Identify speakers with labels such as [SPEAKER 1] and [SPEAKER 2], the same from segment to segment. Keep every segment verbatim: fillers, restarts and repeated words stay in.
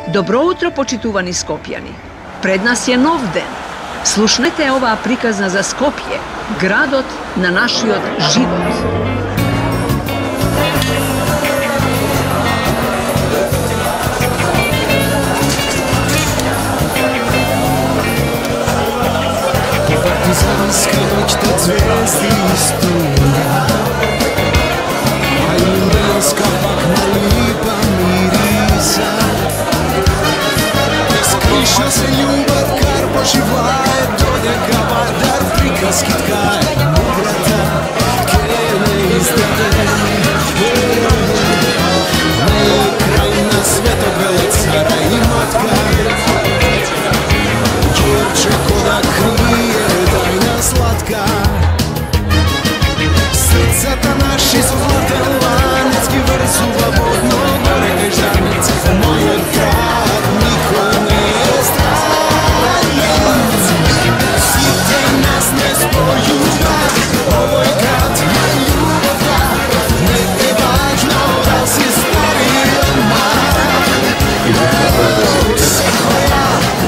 [SPEAKER 1] Добро утро, почитувани Скопјани. Пред нас е нов ден. Слушнете оваа приказна за Скопје, градот на нашиот живот.
[SPEAKER 2] Партизанска ноќта звезди стуга, а јунданска пак налипа мириса. Скриша се љубов, кар поживае, додека вардар приказки ткае. Мудрата ке не издаде, не е крај на светот, веле цара и матка. Ѓерче кода крие тајна сладка, срцата наши златен ланец ги врзува водно горе кај жарница. Мојот град никој не е странен, сите нас не спојува. Овој град на љубовта, не е важно да си стари или млад. Секоја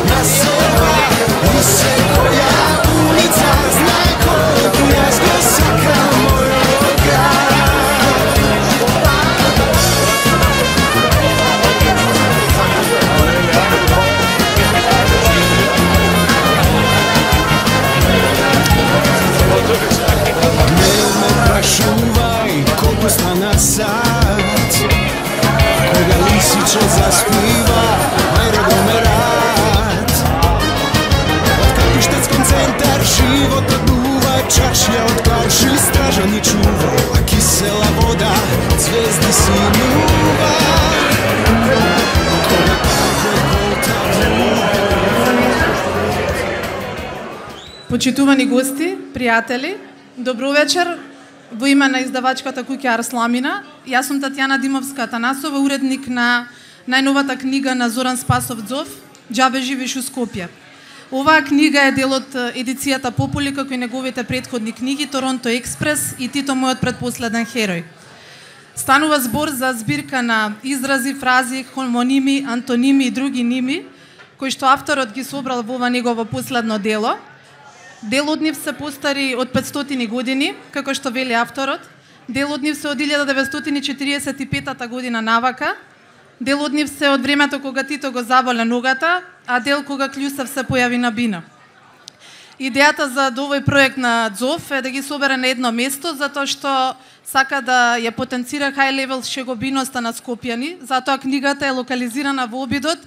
[SPEAKER 2] на села и секоја улица знае колку јас го сакам мојот град. Не ме прашувај колку стана сат, кога лисиче заспива, ајде го ме рад. Од капиштецком центар животот дува, чашја од калши стража ни чува, а кисела вода звезди синува. Кога кафе колта
[SPEAKER 3] Почитувани гости, пријатели, добро вечер. Во име на издавачката куќа Арсламина, јас сум Татјана Димовска-Атанасова, уредник на најновата книга на Зоран Спасов Дзов, Џабе живееш у Скопје. Оваа книга е дел од едицијата Попули, како и неговите претходни книги Торонто експрес и Тито мојот предпоследен херој. Станува збор за збирка на изрази, фрази, хомоними, антоними и други ними, кои што авторот ги собрал во ова негово последно дело. Дел од нив се постари од петстотини години, како што вели авторот. Дел од нив се од илјада деветстотини и четиридесет и петата година навака. Дел од нив се од времето кога Тито го заболе ногата, а дел кога Клјусев се појави на бина. Идејата за овој проект на Дзов е да ги собере на едно место, затоа што сака да ја потенцира high level шегобиноста на скопјани, затоа книгата е локализирана во обидот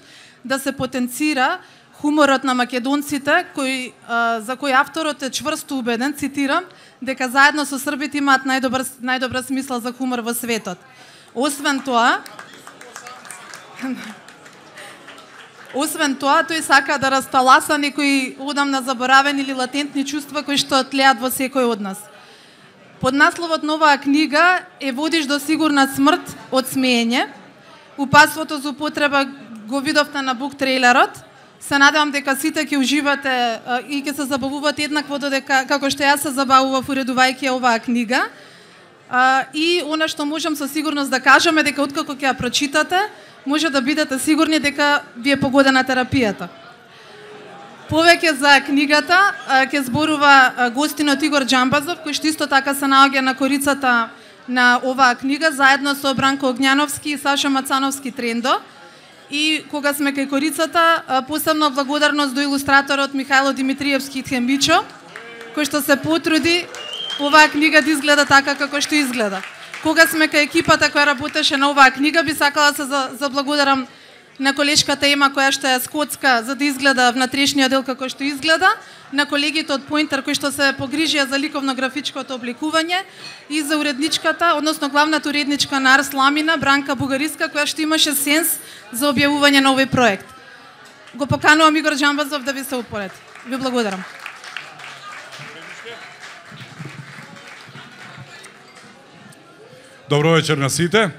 [SPEAKER 3] да се потенцира хуморот на македонците, кој, а, за кој авторот е чврсто убеден, цитирам, дека заедно со србите имаат најдобар, најдобра смисла за хумор во светот. Освен тоа, освен тоа, тој сака да расталаса некои одамна заборавени или латентни чувства кои што тлеат во секој од нас. Под насловот на оваа книга е Водиш до сигурна смрт од смеење. Упатството за употреба го видовте на бук трейлерот. Се надевам дека сите ќе уживате а, и ќе се забавувате еднакво додека како што јас се забавував уредувајќи оваа книга. А, и она што можам со сигурност да кажеме дека откако ќе ја прочитате, може да бидете сигурни дека ви е погодена терапијата. Повеќе за книгата а, ќе зборува а, гостинот Игор Џамбазов, кој што исто така се наоѓа на корицата на оваа книга, заедно со Бранко Огњановски и Саша Мацановски Трендо. И кога сме кај корицата, посебно благодарност до илустраторот Михајло Димитриевски Тхембичо, кој што се потруди оваа книга да изгледа така како што изгледа. Кога сме кај екипата која работеше на оваа книга, би сакала се заблагодарам на колешката Ема која што е скотска за да изгледа внатрешниот дел како што изгледа, на колегите од Поинтер кои што се погрижија за ликовно-графичкото обликување и за уредничката, односно главната уредничка на Арсламина, Бранка Бугариска, која што имаше сенс за објавување на овој проект. Го поканувам Игор Џамбазов да ви се упореди. Ви благодарам.
[SPEAKER 4] Добро вечер на сите.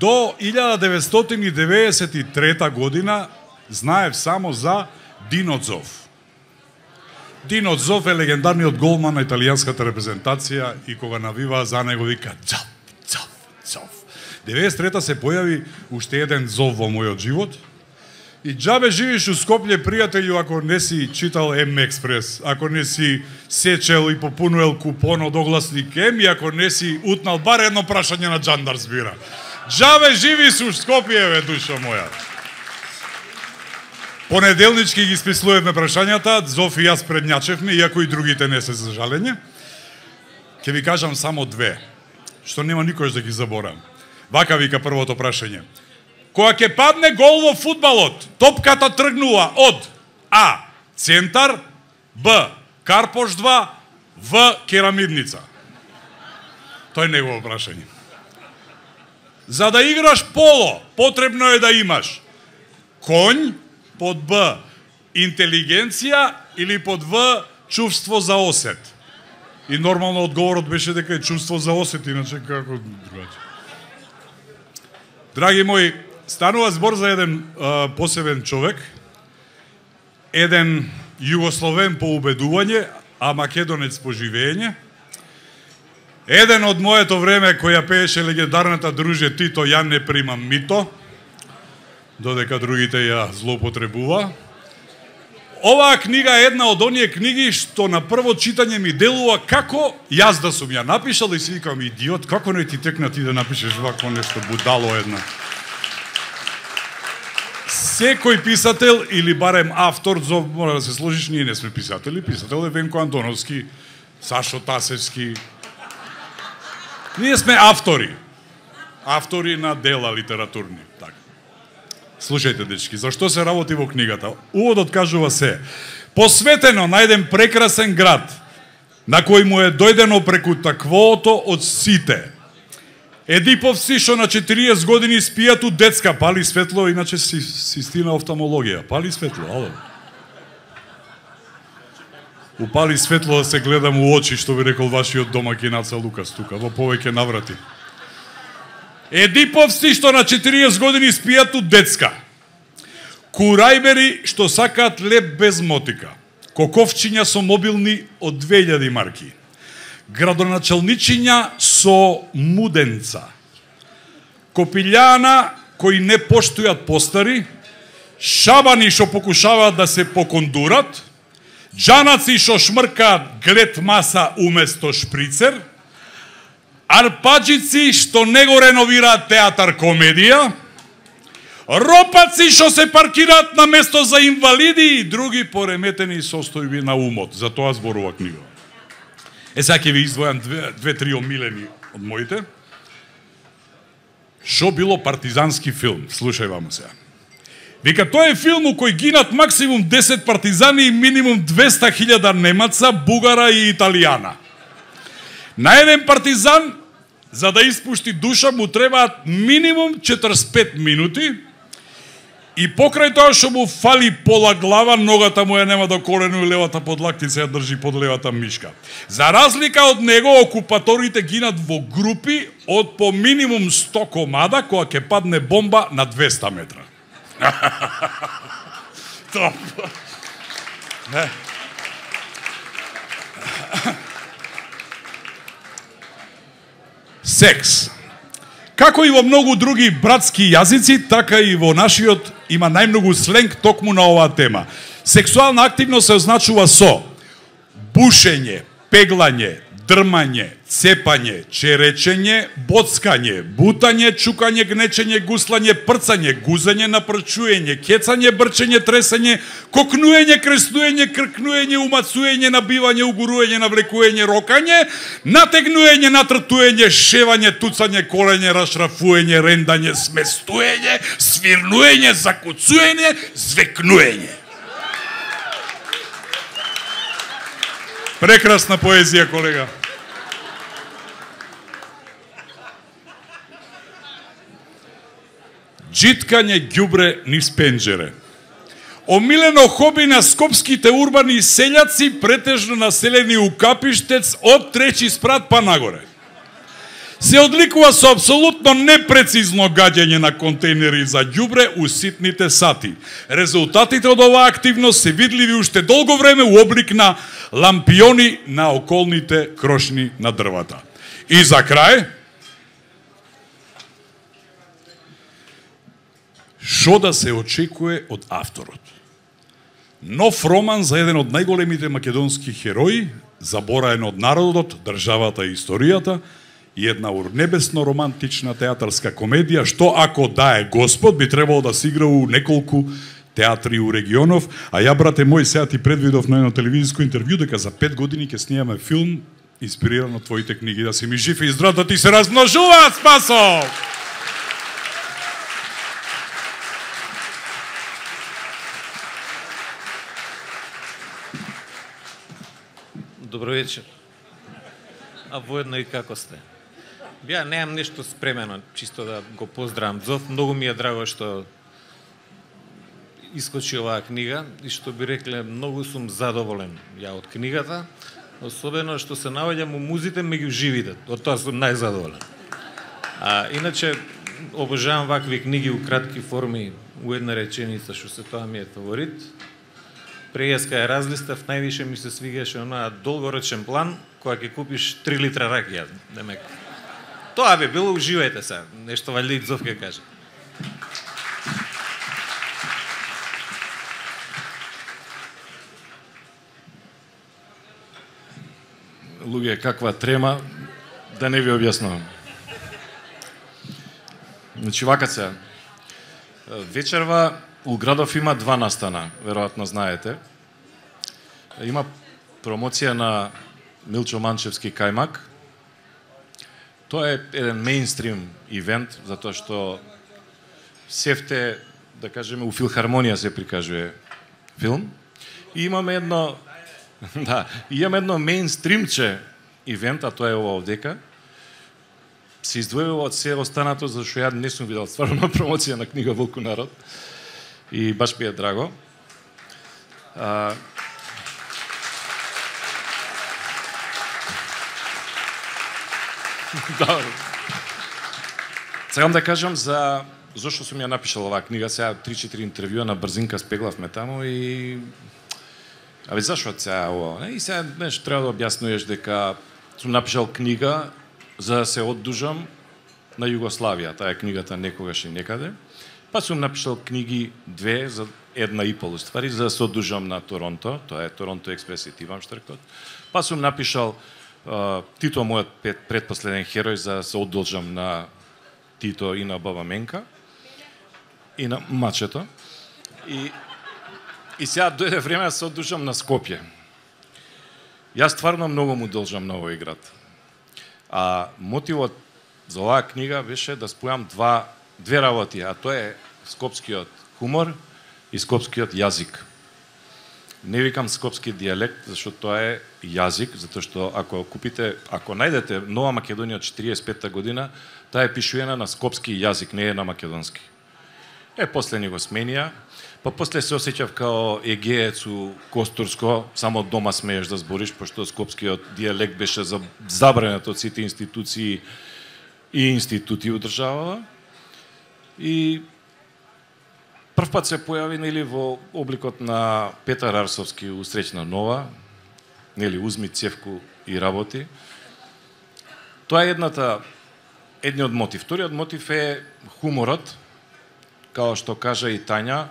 [SPEAKER 4] До илјада деветстотини деветдесет и трета година знаев само за Дино Дзов. Дино Дзов е легендарниот голман на италијанската репрезентација и кога навива за него вика Дзов, Дзов, Дзов. деветдесет и трета се појави уште еден зов во мојот живот. И џабе живиш у Скопје, пријателju, ако не си читал М Експрес, ако не си сечел и попунуел купон од огласник М, и ако не си утнал бар едно прашање на Џандар збира. Џабе живиш у Скопје, бе, душо моја. Понеделнички ги спислувавме прашањата, Зофи и јас предњачевме, иако и другите не се, за жалење. Ќе ви кажам само две, што нема никош да ги заборам. Вака вика првото прашање. Кога ќе падне гол во фудбалот, топката тргнува од А. Центар, Б. Карпош два, В. Керамидница. Тоа е негово прашање. За да играш поло, потребно е да имаш конј, под Б. Интелигенција или под В. Чувство за осет. И нормално одговорот беше дека е чувство за осет, иначе како другаче. Драги мои, станува збор за еден а, посебен човек, еден југословен по убедување, а македонец по живење, еден од моето време кој ја пееше легендарната друже Тито, ја не примам мито, додека другите ја злоупотребува. Оваа книга е една од оние книги што на прво читање ми делува како јас да сум ја напишал и си викам, идиот, како не ти текна ти да напишеш вако нешто, будало една. Секој писател или барем автор, зов, мора да се сложиш, ние не сме писатели, писател е Венко Антоновски, Сашо Тасевски. Ние сме автори. Автори на дела литературни. Така. Слушајте, дечки, зашто се работи во книгата? Уводот кажува се: посветено на еден прекрасен град, на кој му е дојдено преку таквото од сите. Едиповци што на четириесет години спијат у детска, пали светло, иначе си, си стина офталмологија. Пали светло, ало. Упали светло да се гледам у очи, што би рекол вашиот домаќин Аца Лукас тука, во повеќе наврати. Едиповци што на четириесет години спијат у детска. Курајбери што сакаат леп без мотика. Коковчиња со мобилни од две илјади марки. Градоначалничиња со муденца. Копилјана кои не поштујат постари. Шабани што покушаваат да се покондурат. Джанаци што шмркаат глед маса уместо шприцер. Арпаджици што не го реновираат театар комедија, ропаци што се паркираат на место за инвалиди и други пореметени состојби на умот. За тоа зборува книга. Е, сега ќе ви издвојам две-три омилени од моите. Шо било партизански филм? Слушај вамо сега. Вика, тоа е филм у кој гинат максимум десет партизани и минимум двеста хиљада немаца, бугара и италијана. На еден партизан, за да испушти душа, му требаат минимум четресет и пет минути и покрај тоа што му фали пола глава, ногата му ја нема до колену и левата подлактица ја држи под левата мишка. За разлика од него, окупаторите гинат во групи од по минимум сто комада, кога ќе падне бомба на двеста метра. Топ. Секс. Како и во многу други братски јазици, така и во нашиот има најмногу сленг токму на оваа тема. Сексуална активност се означува со бушење, пеглање, дрмање, цепање, черечење, боцкање, бутање, чукање, гнечење, гуслање, прцање, гузање, напрчуење, кецање, брчење, тресање, кокнуење, креснуење, кркнуење, умацуење, набивање, угуруење, навлекуење, рокање, натегнуење, натртуење, шевање, туцање, колење, рашрафуење, рендање, сместуење, свирнуење, закуцуење, звекнуење. Прекрасна поезија, колега. Джиткање ѓубре низ пенџере. Омилено хоби на скопските урбани селјаци, претежно населени у Капиштец од трети спрат па нагоре. Се одликува со апсолутно непрецизно гаѓање на контейнери за ѓубре у ситните сати. Резултатите од оваа активност се видливи уште долго време у облик на лампиони на околните крошни на дрвата. И за крај, Што да се очекува од авторот? Нов роман за еден од најголемите македонски херои, забораен од народот, државата и историјата, и една урнебесно романтична театарска комедија, што ако да е Господ, би требало да се игра у неколку театри у регионов, а ја, брате мој, сега ти предвидов на едно телевизиско интервју дека за пет години ќе снимаме филм инспириран од твоите книги, да си ми жив и здрав, да ти се размножуваат, Спасо!
[SPEAKER 5] Добро вечер. А воедно и како сте? Ја немам нешто спремено, чисто да го поздравам Зов. Многу ми е драго што искочи оваа книга и што би рекле, многу сум задоволен ја од книгата, особено што се наоѓам у музите меѓу живите. Од тоа сум најзадоволен. А иначе обожавам вакви книги у кратки форми, у една реченица, што се тоа ми е фаворит. Прејаска е разлистав, највише ми се свигаше онаа долгорочен план, која ќе купиш три литра ракија, демек. Тоа би било, уживајте се, нешто валјда и Зов ќе каже.
[SPEAKER 6] Луѓе, каква трема, да не ви објаснувам. Значи, вака се, вечерва у градов има два настана, веројатно знаете. Има промоција на Милчо Манчевски кајмак. Тоа е еден мејнстрим ивент, затоа што севте, да кажеме, у филхармонија се прикажува филм. И имаме едно, да, имаме едно мејнстримче ивент, а тоа е ова овдека. Се издвојува од се останато, зашто ја не сум видел стварно промоција на книга Волку народ. И баш ми е драго. А... Добро. Сакам да кажам за зошто сум ја напишал оваа книга. Сега три-четири интервјуа на брзинка спеглавме таму и абе зашо сега ова? И сега нешто треба да објаснуваш дека сум напишал книга за да се оддужам на Југославија. Таа е книгата Некогаш и некаде. Па сум напишал книги две, за една и пол ствари, за да се оддужам на Торонто. Тоа е Торонто Експрес и Тивам Штркот. Па сум напишал uh, Тито, мојот предпоследен херој, за да се оддолжам на Тито и на Баба Менка. И на Мачето. И, и сега дојде време да се оддужам на Скопје. Јас стварно многу му должам на овој град. А мотивот за оваа книга беше да спојам два две работи, а тоа е скопскиот хумор и скопскиот јазик. Не викам скопски дијалект, зашто тоа е јазик, затоа што ако купите, ако најдете Нова Македонија од четириесет и петта година, таа е пишуена на скопски јазик, не е на македонски. Е, после ни го сменија, па после се осеќав као егеец у Костурско, само дома смееш да збориш, пошто скопскиот дијалект беше забранет од сите институции и институти у државава. И прв пат се појави, нели, во обликот на Петар Арсовски у Среќна нова, нели, узми цевку и работи. Тоа е едната, едниот мотив. Вториот мотив е хуморот, као што кажа и Тања.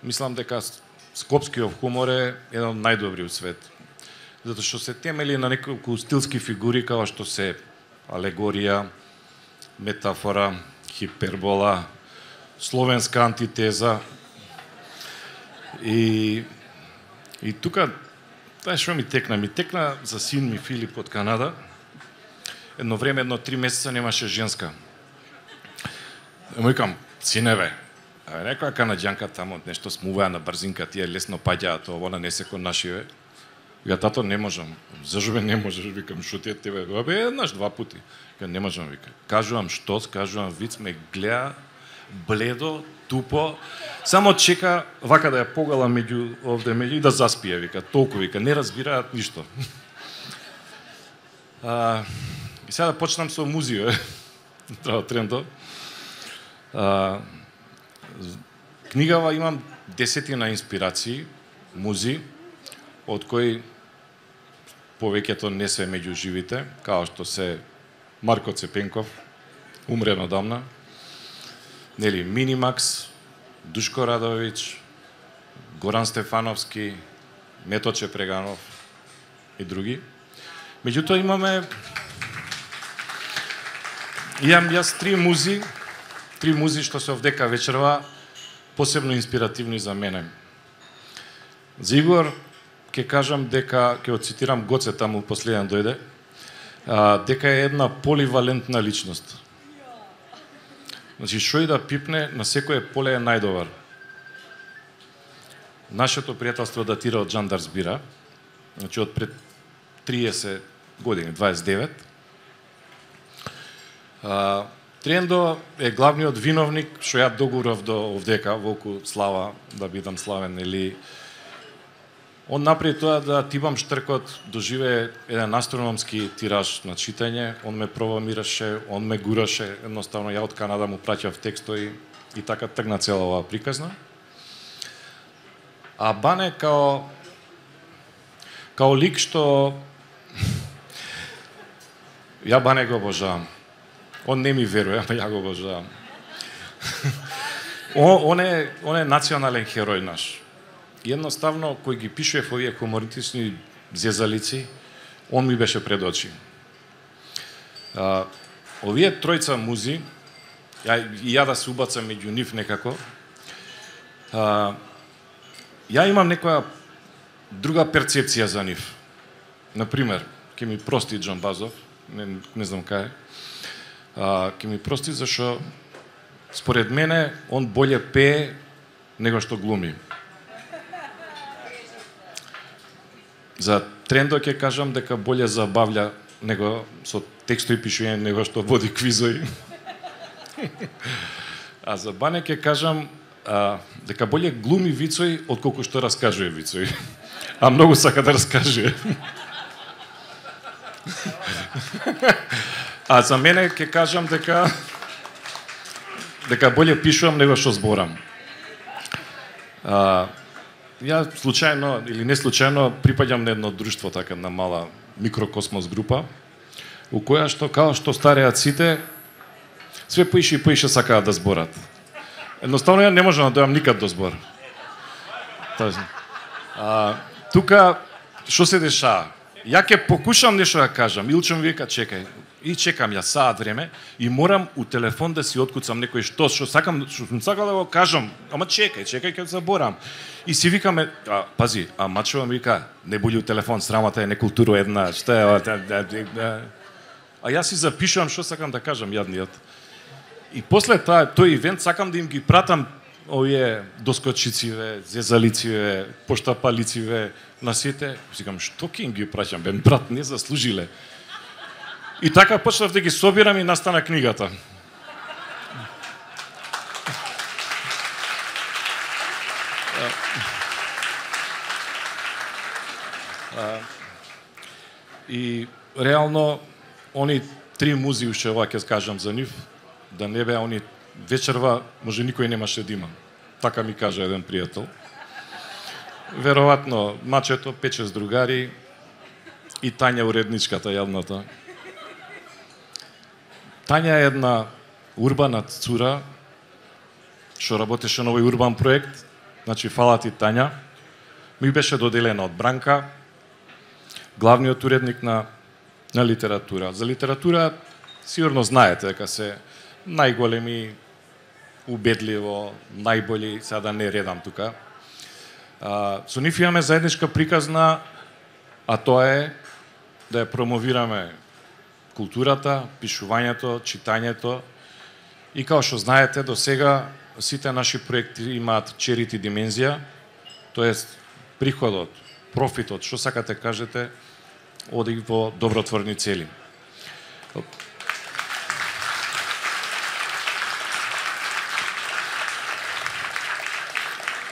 [SPEAKER 6] Мислам дека скопскиот хумор е еден од најдобри у свет. Затоа што се темели на неколку стилски фигури, као што се алегорија, метафора, хипербола, словенска антитеза. И, и тука, тоа што ми текна? Ми текна за син ми Филип од Канада. Едно време, едно три месеца немаше женска. Му викам, синеве, некоја канаѓанка тамо нешто смуваја на брзинка, тие лесно паѓаат, она не се кон нашиве. Вика, тато, не можам. Зашо бе не можеш? Викам, шо ти е тебе? Абе, еднаш, два пути. Вика, не можам, вика. Кажувам што, кажувам виц, ме гледа бледо, тупо, само чека вака да ја погала меѓу овде меѓу и да заспие, вика, толку, вика, не разбираат ништо. А, и сега да почнам со музија, треба трендо. А, книгава имам десетина инспирации, музи, од кои повеќето не се меѓу живите, као што се Марко Цепенков, умрен одамна, нели, Минимакс, Душко Радович, Горан Стефановски, Меточе Преганов и други. Меѓутоа имаме имам јас три музи, три музи што се овдека вечерва посебно инспиративни за мене. За Игор ќе кажам дека ќе го цитирам Гоце, таму последен дојде, а, дека е една поливалентна личност. Значи, шо и да пипне, на секој поле е најдобар. Нашето пријателство датира од Жандар Збира, значи од пред триесет години, дваесет и девет. А, Трендо е главниот виновник, што ја догурав до овдека, волку слава, да бидам славен, или он направи тоа да Тибам Штркот доживее еден астрономски тираж на читање, он ме програмираше, он ме гураше, едноставно ја од Канада му праќав текстови и така тргна цела оваа приказна. А Бане као као лик што ја Бане го обожавам. Он не ми верува, ама ја го обожавам. Он е он е национален херој наш. Jednostavno, кој ги пишуев овие хумористични зезалици, он ми беше пред очи. А, овие тројца музи, ја, и ја да се убацам меѓу нив некако, а, ја имам некоја друга перцепција за нив. Например, ќе ми прости Џон Базов, не, не знам кај, а, ќе ми прости зашо според мене он болje пее него што глуми. За Трендо ќе кажам дека болje забавља него со текстови пишување него што води квизови. А за Бане ќе кажам а, дека болje глуми вицови отколку што раскажува вицови. А многу сака да раскаже. А за мене ќе кажам дека дека болje пишувам него што зборам. А, Ја случајно или не случајно припаѓам на едно друштво, така на мала микрокосмос група, у која што као што стареат сите, све поише и поише сакаат да зборат. Едноставно ја не можам да дојам никад до збор. А, тука што се дешава? Ја ќе покушам нешто да кажам, Илчо ми вика чекај, и чекам ја саат време и морам у телефон да си откуцам некој што што сакам, што сум сакал да го кажам, ама чекај, чекај ќе заборам. И си викаме, а, пази, а мачува ми вика, не буди у телефон, срамата е некултура една, што е, а, а јас си запишувам што сакам да кажам јадниот. И после таа тој ивент сакам да им ги пратам овие доскочициве, зезалициве, поштапалициве на сите. Сикам, што ќе им ги праќам, бе, брат, не заслужиле. И така почнав да ги собирам и настана книгата. И реално они три музи уште ова ќе скажам за нив, да не беа они вечерва, може никој немаше да има. Така ми кажа еден пријател. Веројатно мачето, пет-шест другари и Тања уредничката јадната. Тања е една урбана цура што работеше на овој урбан проект. Значи, фала ти Тања. Ми беше доделена од Бранка, главниот уредник на, на литература. За литература сигурно знаете дека се најголеми, убедливо, најболи, сега да не редам тука. А, со нив имаме заедничка приказна, а тоа е да ја промовираме културата, пишувањето, читањето. И као што знаете, до сега сите наши проекти имаат черити димензија, тоест приходот, профитот, што сакате кажете, оди во добротворни цели.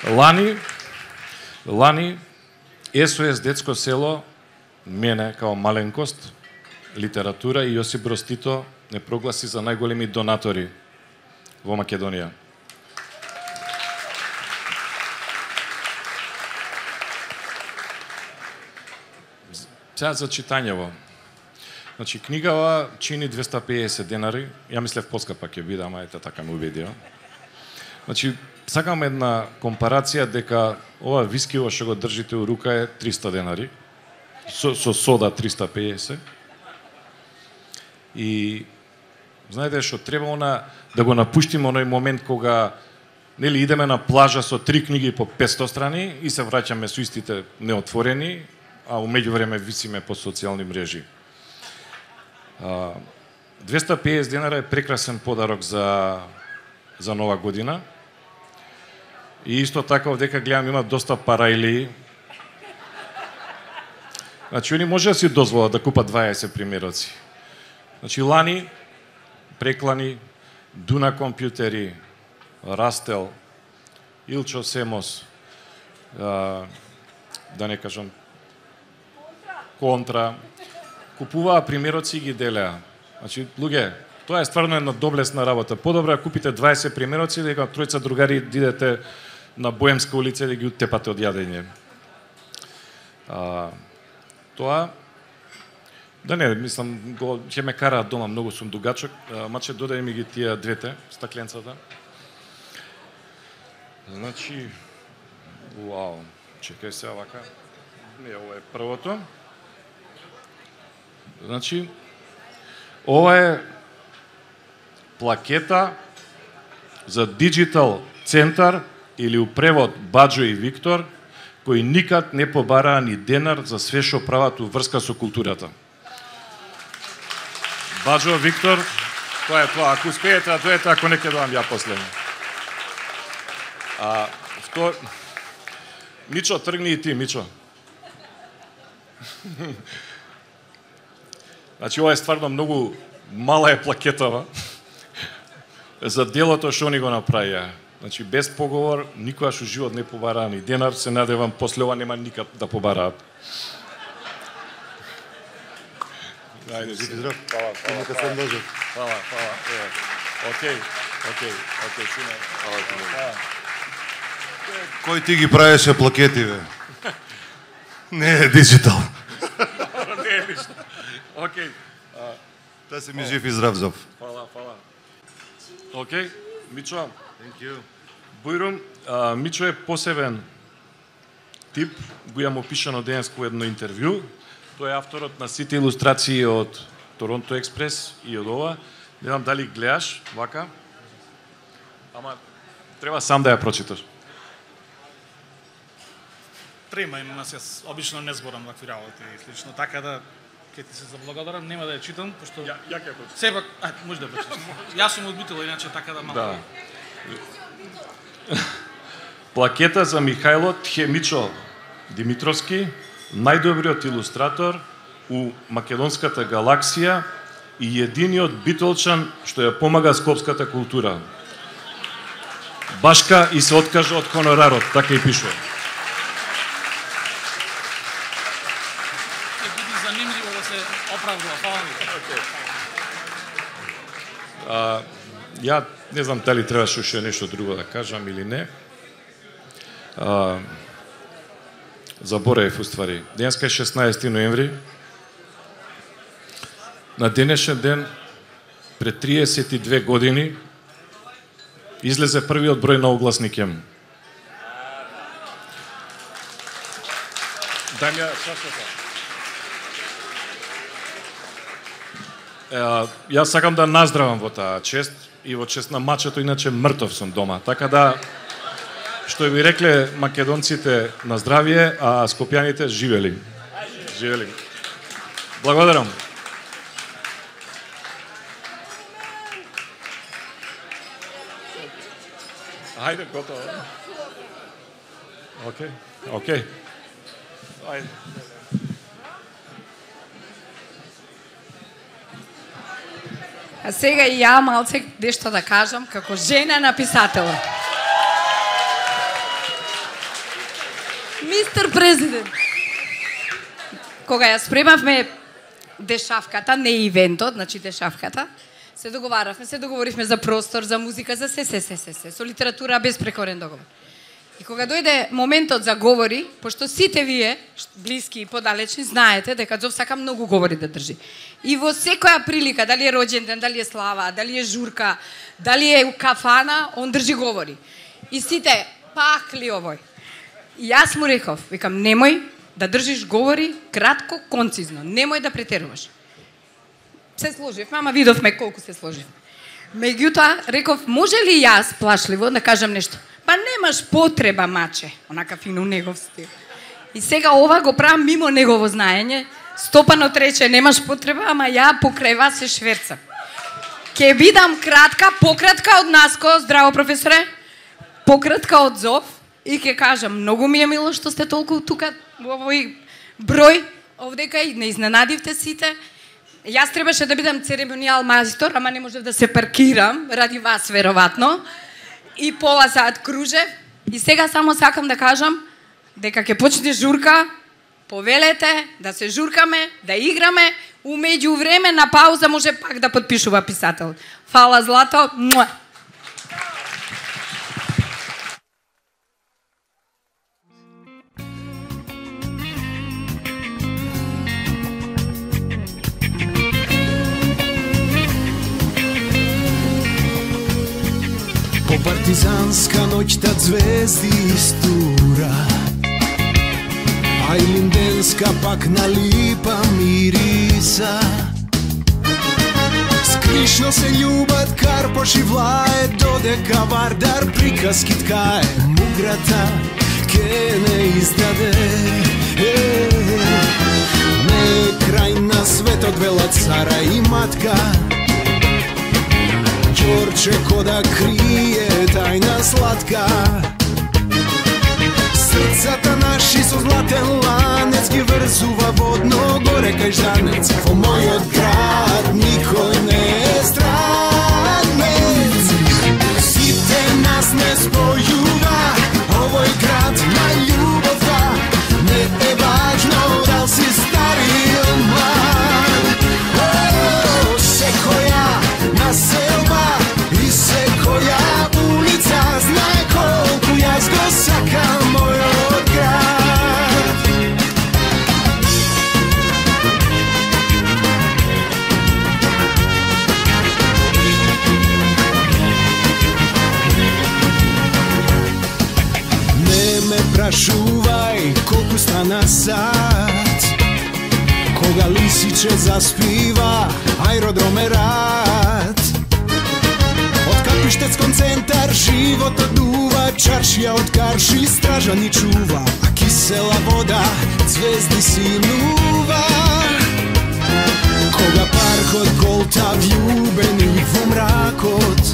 [SPEAKER 6] Лани, лани Ес О Ес Детско село, мене као маленкост, литература и Јосип Броз Тито не прогласи за најголеми донатори во Македонија. Сега за читањево. Значи, книгава чини двесте и педесет денари. Ја мислев поскапа ќе биде, ама ете така ме убедија. Значи, сакам една компарација дека ова вискиво што го држите у рука е триста денари, со, со сода триста педесет. И знаете што треба она да го напуштиме оној момент кога нели идеме на плажа со три книги по петсто страни и се враќаме со истите неотворени, а у меѓувреме висиме по социјални мрежи. А, двесте педесет денара е прекрасен подарок за за нова година. И исто така овдека гледам има доста параили. Значи они може да си дозволат да купат дваесет примероци. Значи лани преклани, Дуна компјутери, Растел, Илчо Семос, а, да не кажам Контра, купуваа примероци и ги делеа. Значи, луѓе, тоа е стварно една доблесна работа. Подобро да купите дваесет примероци, дека тројца другари идете на Боемска улица и да ги утепате од јадење. А, тоа да не, мислам, го ќе ме караат дома, многу сум дугачок, маче додај ми ги тие двете стакленцата. Значи, вау, чекај се вака. Не, ова е првото. Значи, ова е плакета за Digital Центар или у превод Баџо и Виктор, кои никад не побараа ни денар за све што прават у врска со културата. Баџо, Виктор, тоа е тоа. Ако успеете да дојдете, ако не ќе доам ја после. А, втор... Мичо, тргни и ти, Мичо. Значи, ова е стварно многу мала е плакетава за делото што ни го направија. Значи, без поговор, никогаш у живот не побараа ни денар, се надевам, после ова нема никад да побараат. Ајде, жив и здрав. Фала, фала, фала. Фала, фала. Океј, океј, океј, шуна. Фала ти.
[SPEAKER 7] Кој ти ги правеше плакетиве? Не е диджитал.
[SPEAKER 6] Не е ништо. Океј.
[SPEAKER 7] Та си ми жив и здрав, Зов.
[SPEAKER 6] Фала, фала. Океј, Мичо.
[SPEAKER 7] Thank you.
[SPEAKER 6] Бујрум, Мичо е посебен тип, го имам опишано денеско едно интервју. Тој е авторот на сите илустрации од Торонто Експрес и од ова. Не знам дали гледаш, вака. Ама треба сам да ја прочиташ.
[SPEAKER 8] Трема има нас, јас обично не зборам вакви работи и слично, така да ќе ти се заблагодарам, нема да ја читам, пошто
[SPEAKER 6] Ја, ја ќе прочитам.
[SPEAKER 8] Сепак, ај, може да прочиташ. Јас сум одбител, иначе така да малку.
[SPEAKER 6] Да. Плакета за Михајло Тхемичо Димитровски, најдобриот илустратор у македонската галаксија и единиот битолчан што ја помага скопската култура. Башка и се откажа од хонорарот, така и пишува.
[SPEAKER 8] Ќе биде занимљиво да се оправдува, фала ми.
[SPEAKER 6] А, ја не знам дали требаше уште нешто друго да кажам или не. А, заборавив уствари. Денеска е шеснаесети ноември. На денешен ден, пред триесет и две години, излезе првиот број на огласникем. Дај ми ја чашата. Јас сакам да наздравам во таа чест и во чест на мачето, иначе мртов сум дома. Така да, што би рекле македонците на здравје, а скопјаните живели. Живели. Благодарам. Ајде, готово. Океј, океј. Ајде.
[SPEAKER 9] А сега и ја малце нешто да кажам како жена на писател. Мистер Президент, кога ја спремавме дешавката, не ивентот, значи дешавката, се договаравме, се договоривме за простор, за музика, за се, се, се, се, се, со литература без прекорен договор. И кога дојде моментот за говори, пошто сите вие, блиски и подалечни, знаете дека Зов сака многу говори да држи. И во секоја прилика, дали е роѓенден, дали е слава, дали е журка, дали е кафана, он држи говори. И сите, пахли овој. И јас му реков, викам, немој да држиш говори кратко, концизно. Немој да претеруваш. Се сложивме, ама видовме колку се сложивме. Меѓутоа, реков, може ли јас плашливо да кажам нешто? Па немаш потреба, маче. Онака фино негов стил. И сега ова го правам мимо негово знаење. Стопано рече, немаш потреба, ама ја покрај вас се шверцам. Ке бидам кратка, пократка од Наско, здраво професоре, пократка од Зов, и ке кажам, многу ми е мило што сте толку тука во овој број, овдека и не изненадивте сите. Јас требаше да бидам церемонијал мајстор, ама не можев да се паркирам, ради вас веројатно. И пола саат кружев. И сега само сакам да кажам дека ќе почне журка, повелете да се журкаме, да играме, умеѓу време на пауза може пак да подпишува писател. Фала Злато. Муа.
[SPEAKER 2] По партизанска ноќта звезди истура, а илинденска пак на липа мириса. Скришно се љубат Карпош и Влае, додека Вардар приказки ткае, муграта ке не издаде. Е, не крај на светот велат цара и матка, Ѓорче кода крие тајна сладка. Срцата наши со златен ланец ги врзува водно горе кај Жанец. Во мојот град никој не е странец. Сите нас не спојува овој град на љубовта. Не е важно дал си стар или млад. О, секоја населба и секоја улица знае колку јас го сакам мојот град. Не ме прашувај колку стана сат, кога лисиче заспива аеродром е рад. Од Капиштец кон центар животот дува, чаршија од карши стража ни чува, а кисела вода звезди синува. Кога паркот голта вјубени во мракот,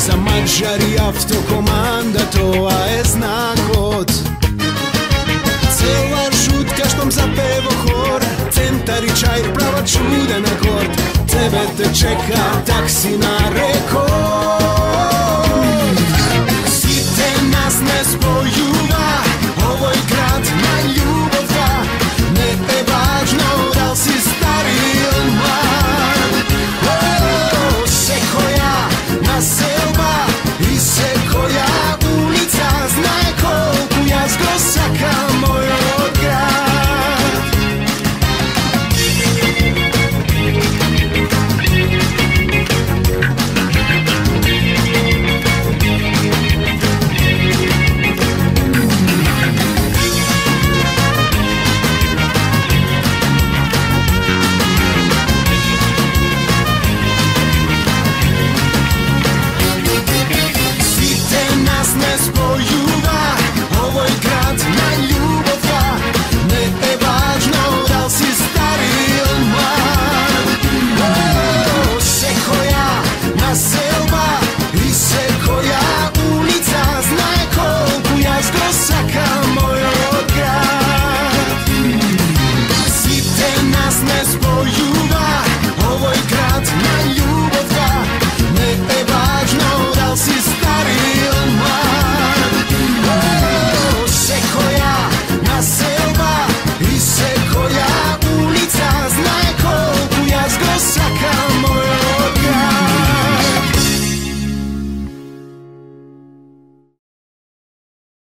[SPEAKER 2] за маđари автокоманда тоа е знакот. Цела шутка штом запево хор, центар и чај права чуден акорд. Тебе те чека такси на рекорд. Сите нас не спојува овој град на љубовта. Не е важно дал си стар или млад. О, секоја населба и секоја улица знае колку јас го сакам мојот град. Сите нас не спојува